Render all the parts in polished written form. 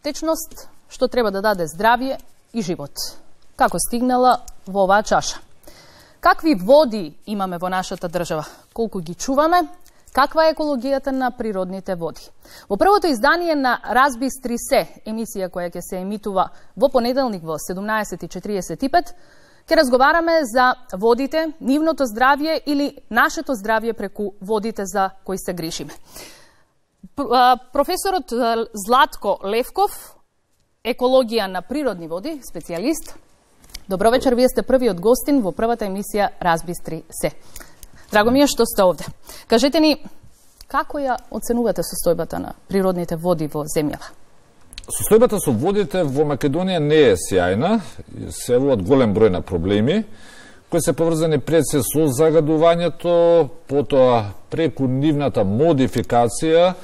Течност што треба да даде здравје и живот. Како стигнала во оваа чаша? Какви води имаме во нашата држава? Колку ги чуваме? Каква е екологијата на природните води? Во првото издание на Разбистри се, емисија која ќе се емитува во понеделник во 17:45, ќе разговараме за водите, нивното здравје или нашето здравје преку водите за кои се грижиме. Професорот Златко Левков, екологија на природни води, специјалист. Добро вечер, вие сте првиот гостин во првата емисија Разбистри се. Драго ми е што сте овде. Кажете ни, како ја оценувате состојбата на природните води во земјава? Состојбата со водите во Македонија не е сјајна, се явуваат голем број на проблеми, кои се поврзани пред се со загадувањето, потоа преку нивната модификација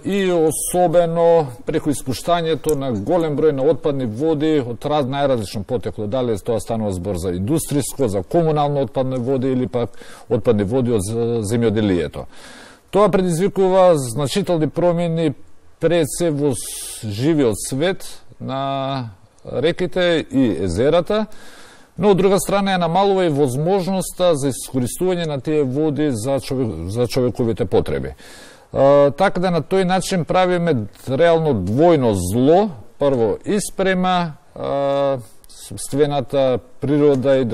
и особено преку испуштањето на голем број на отпадни води од најразлично потекло, дали тоа станува збор за индустријско, за комунално отпадни води или пак отпадни води од земјоделието. Тоа предизвикува значителни промени пред се во живиот свет на реките и езерата, но од друга страна ја намалува и возможноста за искористување на тие води за човековите потреби. Така да на тој начин правиме реално двојно зло, прво испрема собствената природа и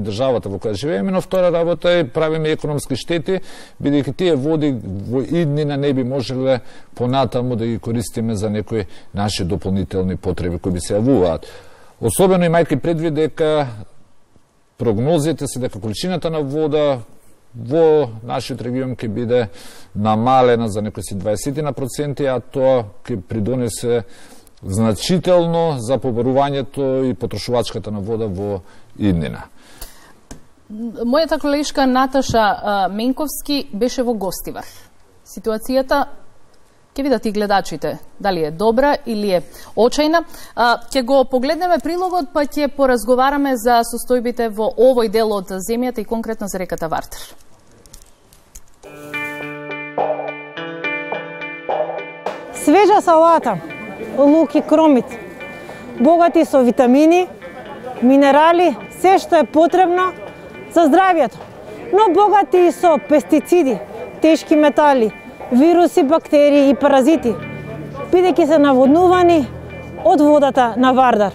државата во која живееме, но втора работа е правиме економски штети, бидејќи тие води во иднина не би можеле понатаму да ги користиме за некои наши дополнителни потреби кои би се јавуваат. Особено имајќи предвид дека прогнозите се дека количината на вода во нашиот регион ќе биде намалена за некои 20%, а тоа ќе придонесе значително за побарувањето и потрошувачката на вода во иднина. Мојата колешка Наташа Менковски беше во Гостивар. Ситуацијата, ќе видат и гледачите, дали е добра или е очајна. Ќе го погледнеме прилогот, па ќе поразговараме за состојбите во овој дел од земјата и конкретно за реката Вардар. Свежа салата, лук и кромит, богати со витамини, минерали, се што е потребно за здравјето, но богати и со пестициди, тешки метали, вируси, бактерии и паразити, бидејќи се наводнувани од водата на Вардар.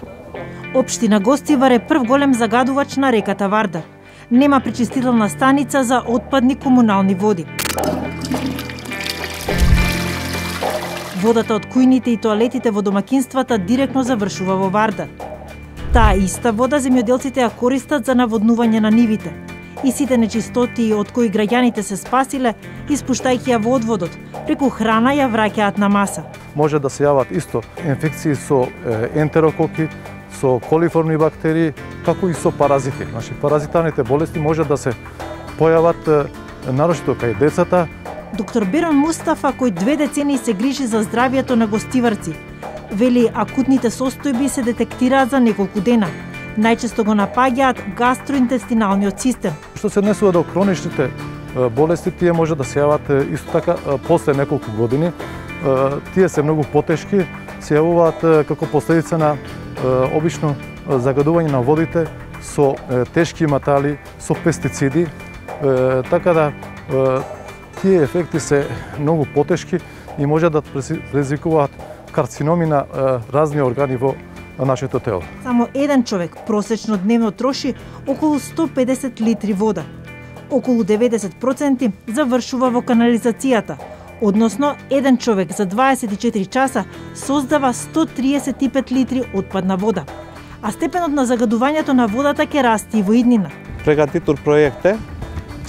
Општина Гостивар е прв голем загадувач на реката Вардар. Нема пречистителна станица за отпадни комунални води. Водата од кујните и тоалетите во домакинствата директно завршува во Вардар. Таа иста вода земјоделците ја користат за наводнување на нивите. И сите нечистоти од кои граѓаните се спасиле, испуштајќи ја во одводот, преку храна ја враќаат на маса. Може да се јават исто инфекции со ентерококи, со колиформни бактерии, како и со паразити. Значи, паразитарните болести може да се појават нарочито кај децата. Доктор Берон Мустафа, кој 2 децении се грижи за здравјето на гостиварци, вели акутните состојби се детектираат за неколку дена. Најчесто го напаѓаат гастроинтестиналниот систем. Што се однесува до хроничните болести, тие може да се јават исто така после неколку години. Тие се многу потешки, се јавуваат како последица на обично загадување на водите со тешки метали, со пестициди, така да тие ефекти се многу потешки и може да предизвикуваат карциноми на разни органи во нашето тело. Само еден човек просечно дневно троши околу 150 литри вода. Околу 90% завршува во канализацијата, односно еден човек за 24 часа создава 135 литри отпадна вода. А степенот на загадувањето на водата ќе расте и во иднина. Pregătitul proiecte,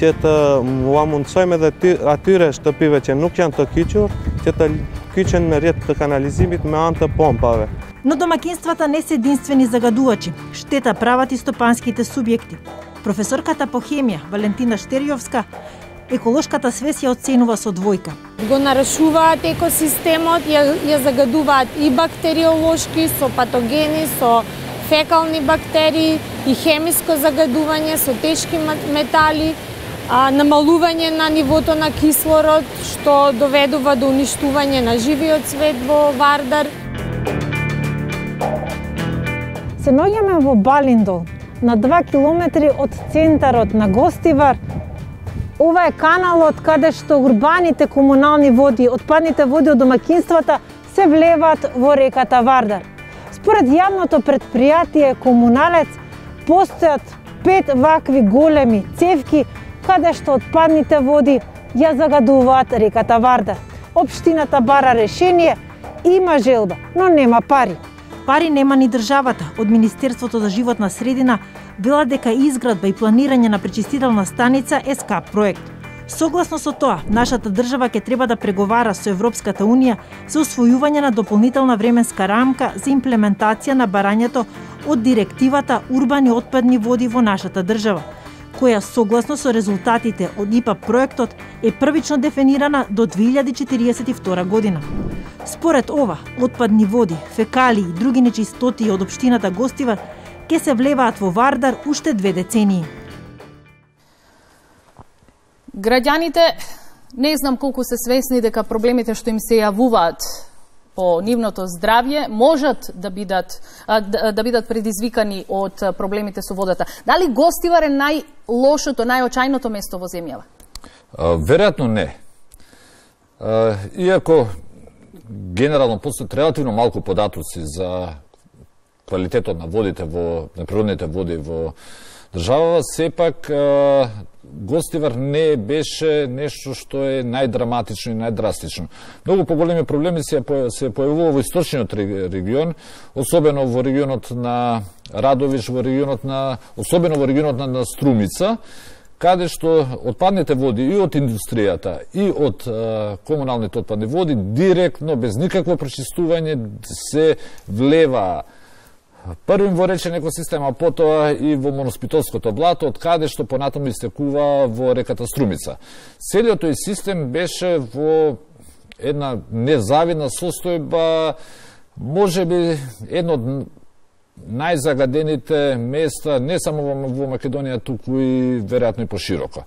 am munțojme de atyre shtëpive që nuk janë të kyçur, që të kyçen me rrjet të kanalizimit me anë të pompave. Но домакинствата не се единствени загадувачи. Штета прават и стопанските субјекти. Професорката по хемија Валентина Штерјовска еколошката свест ја оценува со двојка. Го нарушуваат екосистемот, ја загадуваат и бактериолошки, со патогени, со фекални бактерии и хемиско загадување со тешки метали, намалување на нивото на кислород, што доведува до уништување на живиот свет во Вардар. Се наоѓаме во Балиндол, на 2 километри од центарот на Гостивар. Ова е каналот каде што урбаните комунални води, отпадните води од домаќинствата се влеваат во реката Вардар. Според јавното предпријатие Комуналец, постојат 5 вакви големи цевки каде што отпадните води ја загадуваат реката Вардар. Општината бара решение, има желба, но нема пари. Пари нема ни државата. Од Министерството за животна средина велат дека изградба и планирање на пречистителна станица е скап проект. Согласно со тоа, нашата држава ќе треба да преговара со Европската Унија за усвојување на дополнителна временска рамка за имплементација на барањето од директивата Урбани отпадни води во нашата држава, која согласно со резултатите од ИПА проектот е првично дефинирана до 2042 година. Според ова, отпадни води, фекалии и други нечистоти од општината Гостивар ќе се влеваат во Вардар уште 2 децении. Граѓаните не знам колку се свесни дека проблемите што им се јавуваат по нивното здравје можат да бидат предизвикани од проблемите со водата. Дали Гостивар е најлошото, најочајното место во земјава? Веројатно не. Иако генерално постојат релативно малку податоци за квалитетот на водите на природните води во државава, сепак Гостивар не беше нешто што е најдраматично и најдрастично. Многу поголеми проблеми се појавува во источниот регион, особено во регионот на Радовиш, особено во регионот на Струмица, каде што отпадните води и од индустријата и од комуналните отпадни води директно, без никакво пречистување, се влева првим во речен екосистем, а потоа и во Моноспитовското блато, од каде што понатаму истекува во реката Струмица. Целиот тој систем беше во една незавидна состојба, можеби едно од најзагадените места, не само во Македонија, туку и веројатно и пошироко.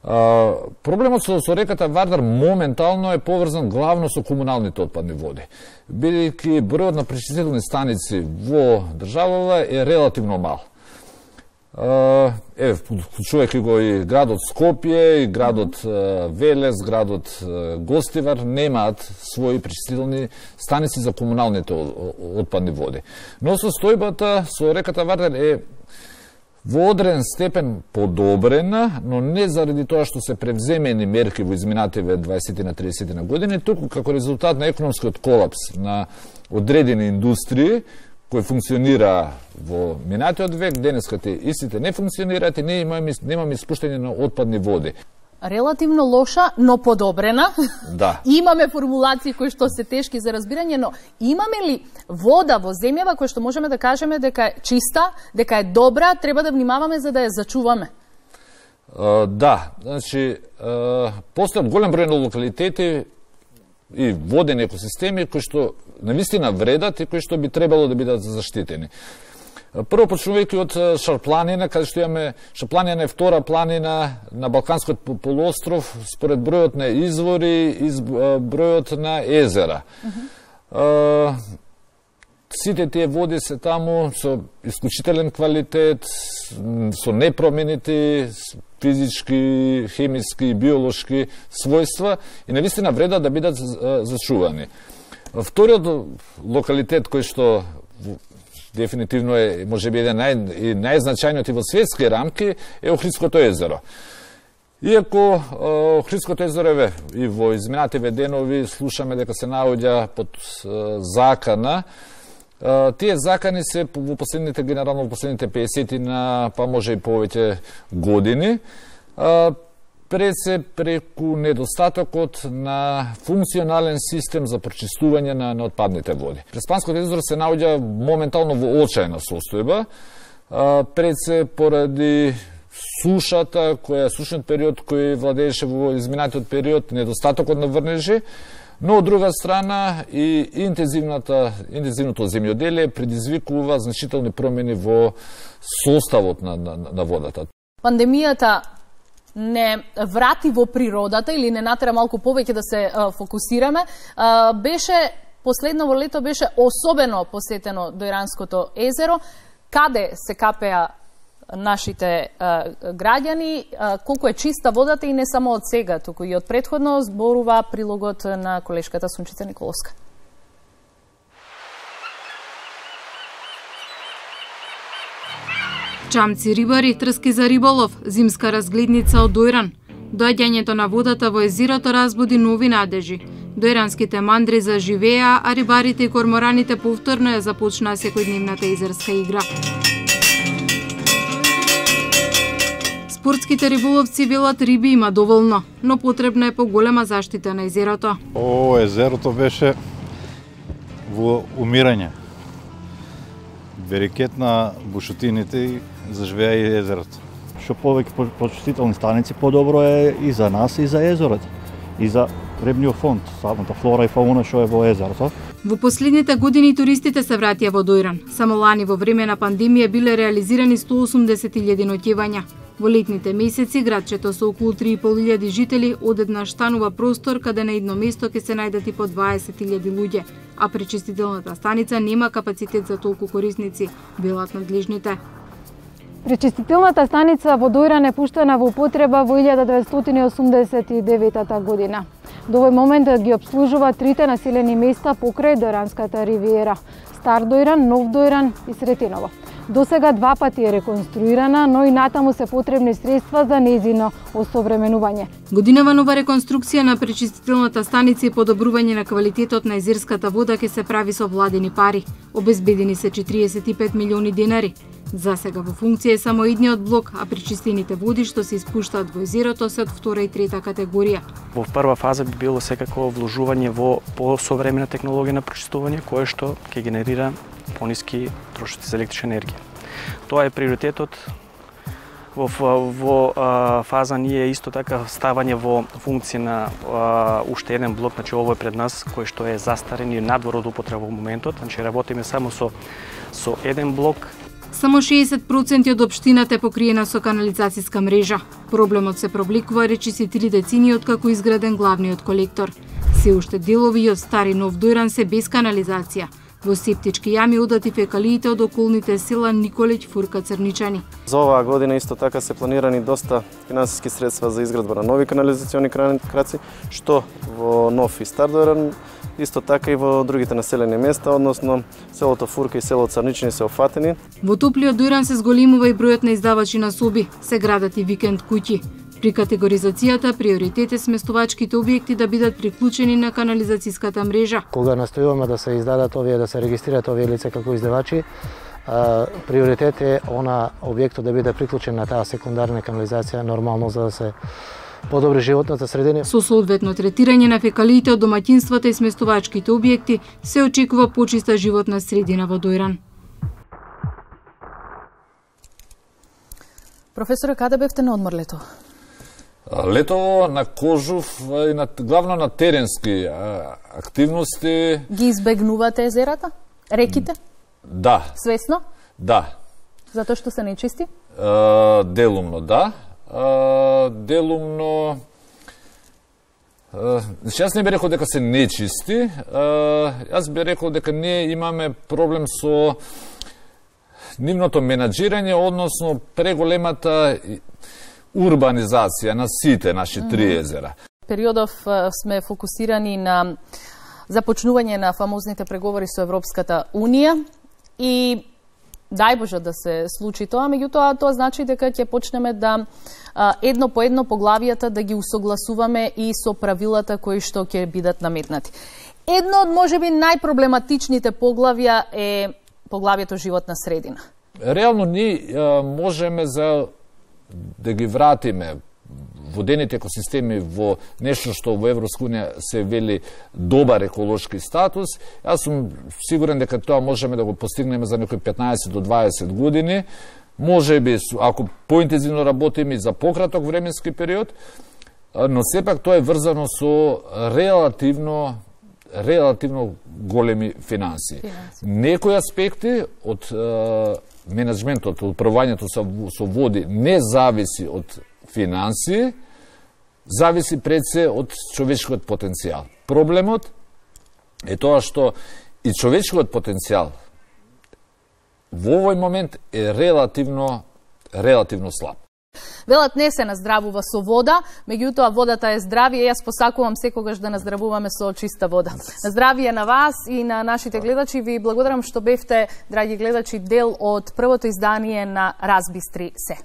Проблемот со реката Вардар моментално е поврзан главно со комуналните отпадни води, бидејќи бројот на пречистителни станици во државава е релативно мал. Вклучувајќи го и градот Скопје, и градот Велес, градот Гостивар немаат своји пречистителни станици за комуналните отпадни води. Но состојбата со реката Вардар е во одреден степен подобрена, но не заради тоа што се превземени мерки во изминативе 20 на 30 на години, туку како резултат на економскиот колапс на одредени индустрии кои функционира во минатиот век, денеска истите не функционираат и немаме испуштање на отпадни води. Релативно лоша, но подобрена. Да. Имаме формулации кои што се тешки за разбирање, но имаме ли вода во земјава која што можеме да кажеме дека е чиста, дека е добра, треба да внимаваме за да ја зачуваме? Да, значи, постојат голем број на локалитети и водени екосистеми кои што навистина вредат и кои што би требало да бидат заштитени. Прво почнувајќи од Шарпланина, каде што имаме Шарпланина е втора планина на Балканскиот полуостров според бројот на извори и бројот на езера. Сите тие води се таму со исклучителен квалитет, со непроменити физички, хемиски и биолошки својства и навистина вреда да бидат зачувани. Вториот локалитет кој што дефинитивно е можеби еден најзначајниот и во светски рамки е Охридското езеро. Иако Охридското езеро и во изминативе денови слушаме дека се наоѓа под закана, тие закани се во последните, генерално во последните 50 на па може и повеќе години, пред се преку недостатокот на функционален систем за прочистување на отпадните води. Преспанското езеро се наоѓа моментално во очајна состојба, пред се поради сушниот период кој владееше во изминатиот период, недостатокот на врнежи, но од друга страна и интензивното земјоделие предизвикува значителни промени во составот на водата. Пандемијата не врати во природата или не натера малку повеќе да се фокусираме, беше последново лето беше особено посетено до Иранското езеро, каде се капеа нашите граѓани, колку е чиста водата и не само од сега, туку и од претходно, зборува прилогот на колешката Сунчица Николовска. Чамци рибари, трски за риболов, зимска разгледница од Дојран. Доаѓањето на водата во езерото разбуди нови надежи. Дојранските мандри заживеа, а рибарите и кормораните повторно ја започнаа секојдневната езерска игра. Спортските риболовци велат риби има доволно, но потребна е поголема заштита на езерото. Езерото беше во умирање. Берекет на бушотините и заживеа и езерото. Што повеќе почистителни станици, подобро е и за нас, и за езерото, и за рибниот фонд, самата флора и фауна што е во езерото. Во последните години туристите се вратија во Дојран. Само лани во време на пандемија биле реализирани 180.000 ноќевања. Во летните месеци градчето со околу 3.500 жители одеднаш станува простор каде на едно место ќе се најдат и по 20.000 луѓе, а пречистителната станица нема капацитет за толку корисници, велат надлежните. Пречистителната станица во Дојран е пуштена во употреба во 1989 година. До овој момент ги обслужува трите населени места покрај Дојранската ривиера: Стар Дојран, Нов Дојран и Сретеново. До сега 2 пати е реконструирана, но и натаму се потребни средства за нејзино осовременување. Годинава нова реконструкција на пречистителната станица и подобрување на квалитетот на езерската вода ќе се прави со владени пари. Обезбедени се 45 милиони денари. За сега во функција е само едниот блок, а пречистените води што се испуштаат во езерото се од втора и трета категорија. Во прва фаза би било секако вложување во посовремена технологија на пречистување, кое што ќе генерира пониски трошоци за електрична енергија. Тоа е приоритетот. Во фаза ние исто така ставање во функција на уште еден блок, значи ово е пред нас, кој што е застарен и надвор од употреба во моментот, значи работиме само со еден блок. Само 60% од општината е покриена со канализацијска мрежа. Проблемот се провлекува речиси 3 децени откако изграден главниот колектор. Се уште делови од Стари Нов Дојран се без канализација. Во септички јами одат и фекалиите од околните села Николиќ, Фурка, Црничани. За оваа година исто така се планирани доста финансиски средства за изградба на нови канализациони краци, што во Нов и Стар Дојран, исто така и во другите населени места, односно селото Фурка и селото Црничани се офатени. Во топлиот Дојран се зголемува и бројот на издавачи на соби, се градат и викенд куќи. При категоризацијата приоритет е сместувачките објекти да бидат приклучени на канализацијската мрежа. Кога настојуваме да се издадат овие, да се регистрираат овие лица како издавачи, приоритет е објектот да биде приклучен на таа секундарна канализација нормално за да се подобри животната средина. Со соодветно третирање на фекалиите од домаќинствата и сместувачките објекти се очекува почиста животна средина во Дојран. Професоре, каде бевте на одмор лето? Летово на Кожув и главно на теренски активности. Ги избегнувате езерата? Реките? Да. Свесно? Да. Затоа што се нечисти? Делумно, да. Делумно... Јас не би рекол дека се нечисти. Јас би рекол дека ние имаме проблем со нивното менаџирање, односно преголемата урбанизација на сите наши 3 езера. Периодов сме фокусирани на започнување на фамозните преговори со Европската Унија и дај Боже да се случи тоа, меѓутоа тоа значи дека ќе почнеме да едно по едно поглавијата да ги усогласуваме и со правилата кои што ќе бидат наметнати. Едно од можеби најпроблематичните поглавја е поглавието животна средина. Реално ние можеме да ги вратиме водените екосистеми во нешто што во Европска унија се вели добар еколошки статус. Јас сум сигурен дека тоа можеме да го постигнеме за некои 15 до 20 години. Може би, ако поинтензивно работиме и за пократок временски период, но сепак тоа е врзано со релативно големи финанси. Некои аспекти од менеджментот, од управувањето со води не зависи од финансии, зависи пред се од човечкиот потенцијал. Проблемот е тоа што и човечкиот потенцијал во овој момент е релативно слаб. Велат не се наздравува со вода, меѓутоа водата е здравие. Јас посакувам секогаш да наздравуваме со чиста вода. На здравие на вас и на нашите гледачи. Ви благодарам што бевте, драги гледачи, дел од првото издание на Разбистри се.